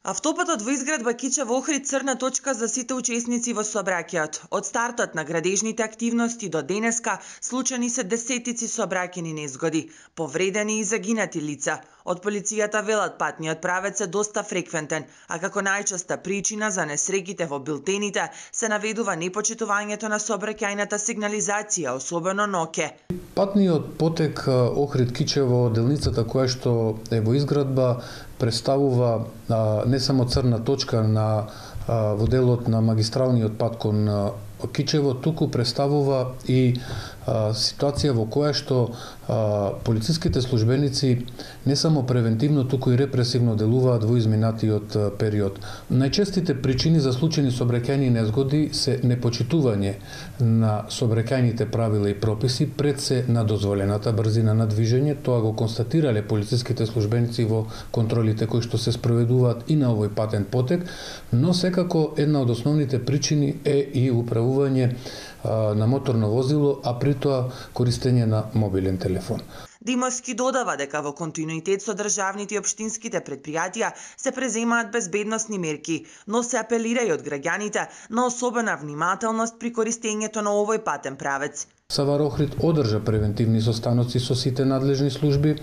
Автопатот во изградба Кичево Охрид црна точка за сите учесници во сообраќајот. Од стартот на градежните активности до денеска случаи се десетици сообраќајни незгоди, повредени и загинати лица. Од полицијата велат патниот правец е доста фреквентен, а како најчеста причина за несреќите во билтените се наведува непочитувањето на сообраќајната сигнализација, особено ноќе. Патниот потек Охрид Кичево, делницата која што е во изградба, представува не само црна точка во делот на магистралниот пат кон Кичево, туку представува и ситуација во која што полициските службеници не само превентивно, туку и репресивно делуваат во изминатиот период. Најчестите причини за случајни сообраќајни незгоди се непочитување на сообраќајните правила и прописи пред се на дозволената брзина на движење. Тоа го констатирале полициските службеници во контролите кои што се спроведуваат и на овој патен потек, но секако една од основните причини е и управување на моторно возило, а при тоа користење на мобилен телефон. Димовски додава дека во континуитет со државните и општинските предпријатија се преземаат безбедносни мерки, но се апелира и од граѓаните на особена внимателност при користењето на овој патен правец. САВАР Охрид одржа превентивни состаноци со сите надлежни служби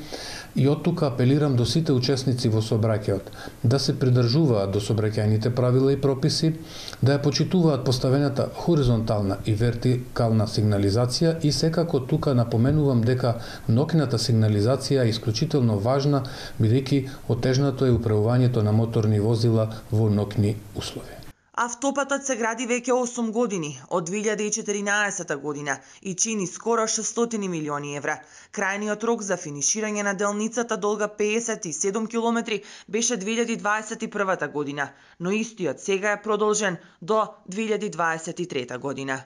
и од тука апелирам до сите учесници во сообраќајот да се придржуваат до сообраќајните правила и прописи, да ја почитуваат поставената хоризонтална и вертикална сигнализација и секако тука напоменувам дека ноќната сигнализација е исклучително важна, бидејќи отежнато е управувањето на моторни возила во ноќни услови. Автопатот се гради веќе 8 години, од 2014 година и чини скоро 600 милиони евра. Крајниот рок за финиширање на делницата долга 57 километри беше 2021 година, но истиот сега е продолжен до 2023 година.